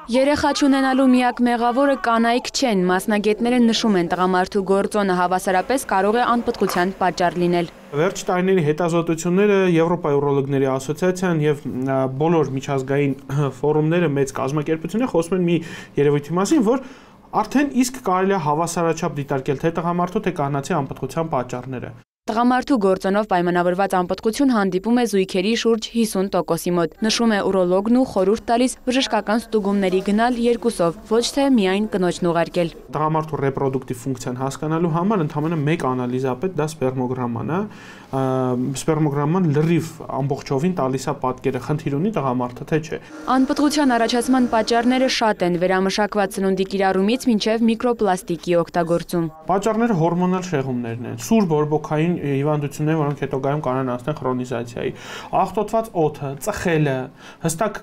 Երեխա չունենալու միակ մեղավորը կանայք չեն, մասնագետները նշում են տղամարդու գործոնը հավասարապես կարող է անպտղության պատճառ լինել։ Վերջ տարիների հետազոտությունները Եվրոպայի ուրոլոգների ասոցիացիան եւ բոլոր միջազգային ֆորումները մեծ կազմակերպությունները խոսում են մի երևույթի մասին, որ արդեն իսկ կարելի է հավասարաչափ դիտարկել թե տղամարդու թե կանացի անպտղության պատճառները։ Տղամարդու գործոնով պայմանավորված անպտղություն հանդիպում է զույգերի շուրջ 50%-ի մոտ, նշում է ուրոլոգն ու խորհուրդ տալիս բժշկական ստուգումների գնալ երկուսով, ոչ թե միայն կնոջն ուղարկել։ Տղամարդու ռեպրոդուկտիվ ֆունկցիան հասկանալու համար ընդհանրապես մեկ անալիզ է պետք, դա սպերմոգրաման է։ Սպերմոգրաման լրիվ ամբողջովին տալիս է պատկերը, խնդիր ունի տղամարդը թե չէ։ Անպտղության առաջացման պատճառները շատ են, վերամշակված սնունդի կիրառումից մինչև միկրոպլաստիկի օգտագործում։ Պատճառները հորմոնալ շեղումներն են, սուր բորբոքային հիվանդություններ, որոնք հետագայում կարող են հասնել քրոնիզացիայի։ Աղտոտված օդը, ծխելը հստակ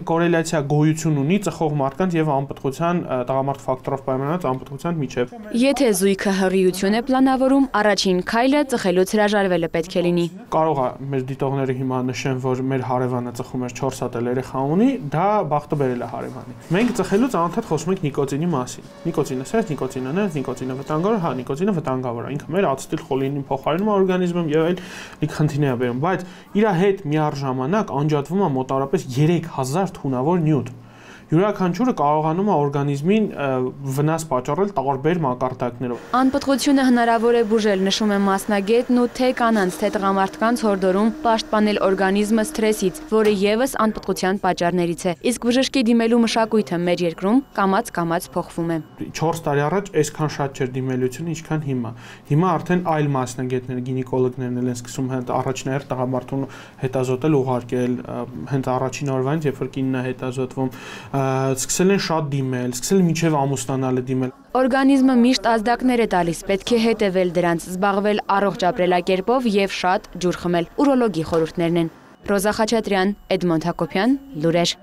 կորելացիա գոյություն ունի ծխող մարդկանց եւ անպտղության տղամարդ ֆակտորով պայմանավորված անպտղության միջեւ։ Եթե զույգը հղիություն է պլանավորում, առաջին քայլը ծխելուց հրաժարվելը պետք է լինի։ Կարող է մեր դիտողները հիմա նշեն, որ մեր հարևանը ծխում էր 4 հատ երեխա ունի, դա բախտը բերել է հարևանի։ Մենք ծխելուց անընդհատ խոսում ենք նիկոտինի մասին։ Նիկոտինը սեր, նիկոտինը նե, նիկոտինը վտանգավոր, հա, նիկոտինը վտանգավոր է։ Ինքը մեր ացետիլ խոլինին փոխարինում է օրգանիզմում եւ այլ խնդիրներ է բերում, բայց իր հետ միառժամանակ անջատվում է մոտավորապես 3000 թունավոր նյութ։ Յուրաքանչյուրը կարողանում է օրգանիզմին վնաս պատճառել տարբեր մակարդակներով։ Անպտղությունը հնարավոր է բուժել, նշում է մասնագետն ու թե կանանց, թե տղամարդկանց հորդորում պաշտպանել օրգանիզմը սթրեսից, որը ևս անպտղության պատճառներից է։ Իսկ բժշկի դիմելու մշակույթը մեր երկրում կամաց փոխվում է։ 4 տարի առաջ այսքան շատ չէր դիմելությունը, ինչքան հիմա։ Հիմա արդեն այլ մասնագետներ, գինեկոլոգներն են սկսում հենց առաջնահերթ տղամարդուն հետազոտել, ուղարկել, հենց առաջին օրվանից, երբ որ կինն է հետազոտվում, սկսել են շատ դիմել, սկսել են մինչև ամուսնանալը դիմել։ Օրգանիզմը միշտ ազդակներ է տալիս, պետք է հետևել դրանց, զբաղվել առողջ ապրելակերպով եւ շատ ջուր խմել։ Ուրոլոգի խորհուրդներն են։ Ռոզա Խաչատրյան, Էդմոնդ Հակոբյան, Լուրեր։